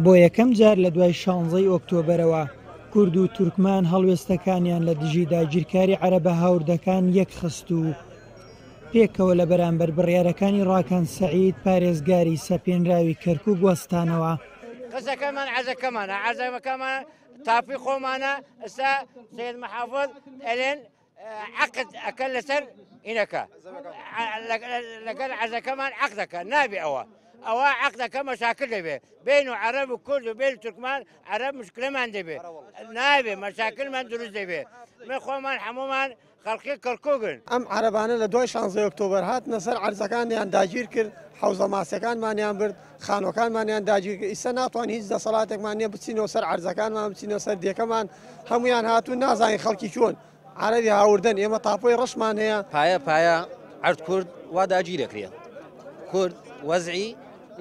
بۆ یەکەم جار لە دوای شانزەی ئۆکتۆبەرەوە کورد و تورکمان هەڵوێستەکانیان لە دژی داگیرکاری عەرەبە هاوردەکان یەکخست و پێکەوە لە بەرامبەر بڕیارەکانی ڕاکان سەعید پارێزگاری سەپێنراوی کەرکوک وەستانەوە. قسەکەمان عەزەکەمانە عەزەکەمان تاپی خۆمانە ئستا سید محافظ ئەلێن عقد ئەکەن لەسەر ئینەکە لەگەل عەزەکەمان عقدەکە نابێ ئەوە ئەوە عقدەکە مەشاکل دەبێ بین و عەرەب و کورد و بین تورکمان عەرەب مشکلەمان دەبێ نابێ مەشاکلمان دروست دەبێ من خۆمان هەمومان خەڵکی کەرکوکن. ئەم عەرەبانە لە دوای شانزەی ئۆکتۆبەر هاتنە سەر عەرزەکانیان داگیر کرد، حەوزە ماسیەکانمانیان برد، خانوەکانمانیان داگیر کرد، ئیستا ناتوانین هیچ دەسەڵاتێکمان نییە بچینەوە سەر عەرزەکانمان بچینەوە سەر دێکەمان، هەمویان هاتوون نازانین خەڵکی کوێن، عەرەبی هاوردەن، ئێمە تاپۆی ڕەشمان هەیە. پایە پایە عەرد کورد وا داگیرەکرێ کورد وەزعی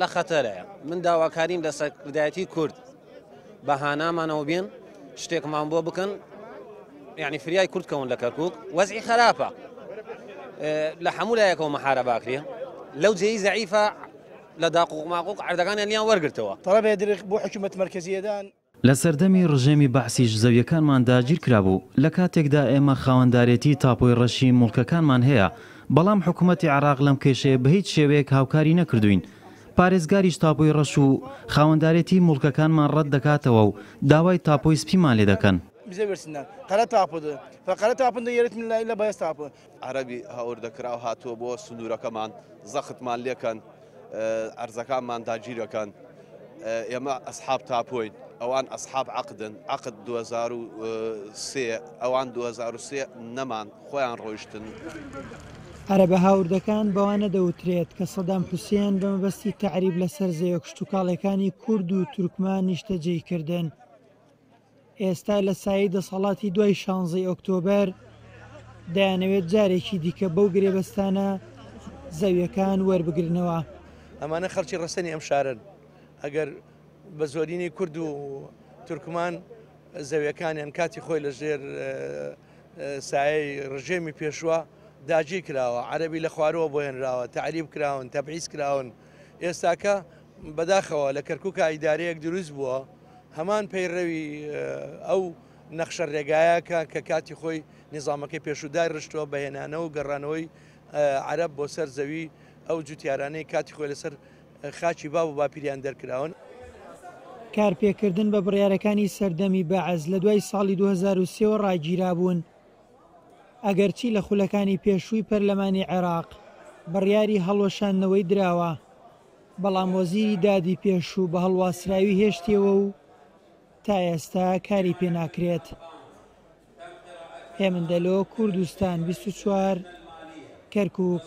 لە خەتەرەیە من داواکاریم لە سەرکردایەتی کورد بە هانامانەوە بێن شتێکمان بۆ بکەن یعنی فریای کورد کەون لە کەرکک وەزعی خراپە لە هەموو لایەکەوە مەحارە باکرێ لەو جێی زەعیفە لە داقوق ماقوق عەردەکانیان لیان وەرگرتەوە. تەڵەبێ درخ بۆ حکومەت مەرکەزیەدان. لە سەردەمی ڕژێمی بەعسیش زەویەکانمان داگیرکرابوو، لە کاتێکدا ئێمە خاوەندارێتی تاپۆی ڕەشی موڵکەکانمان هەیە، بەڵام حکومەتی عێراق لەم کێشەیە بەهیچ شێوەیەک هاوکاری نەکردووین، پارێزگاریش تاپۆی ڕەش و خاوەندارێتی موڵکەکانمان ڕەت دەکاتەوە و داوای تاپۆی سپیمان لێ دەکەن. عەرەبی هاوردەکراو هاتووە بۆ سنوورەکەمان زەختمان لێکەن ئەرزەکانمان داگیرەکەن ئێمە ئەسحاب تاپۆین ئەوان ئەسحاب عەقدن عەقد 2003 ئەوان 2003 نەمان خۆیان ڕۆیشتن. عەرەبە هاوردەکان بەوانە دەوترێت کە سەدام حوسێن بە مەبەستی تەعریب لەسەر زەویە کشتوکاڵیەکانی کورد و تورکمان نیشتەجێی کردن. ئێستا لە سایەی دەسەڵاتی دوای شانزەی ئۆکتۆبەر دەیانەوێت جارێکی دیکە بەو گرێبەستانە زەویەکان وەربگرنەوە. ئەمانە خەڵکی ڕەسەنی ئەم شارەن، ئەگەر بە زۆرینەی کورد و تورکمان زەویەکانیان کاتی خۆی لە ژێر سایەی ڕژێمی پێشوە داگیر کراوە، عەرەبی لە خوارەوە بۆ هێنراوە، تەعریب کراون، تەبعیس کراون. ئێستاکە بەداخەوە لە کەرکووکا ئیدارەیەک دروست بووە هەمان پەیڕەوی ئەو نەخشە ڕێگایە کە کە کاتی خۆی نیزامەکەی پێشوو دایڕشتووە بە هێنانەوە و گەڕانەوەی عەرەب بۆ سەر زەوی ئەو جوتیارانەی کاتی خۆی لەسەر خاکی باب و باپیریان دەرکراون. کارپێکردن بە بڕیارەکانی سەردەمی بەعس لە دوای ساڵی 2003 وە ڕاگیرابوون، ئەگەرچی لە خولەکانی پێشووی پەرلەمانی عێراق بڕیاری هەڵوەشاندنەوەی دراوە، بەڵام وەزیری دادی پێشوو بە هەڵواسراوی هێشتیەوە و تا ئێستا کاری پێناکرێت. هێمن دەلۆ، کوردستان 24، کەرکوک.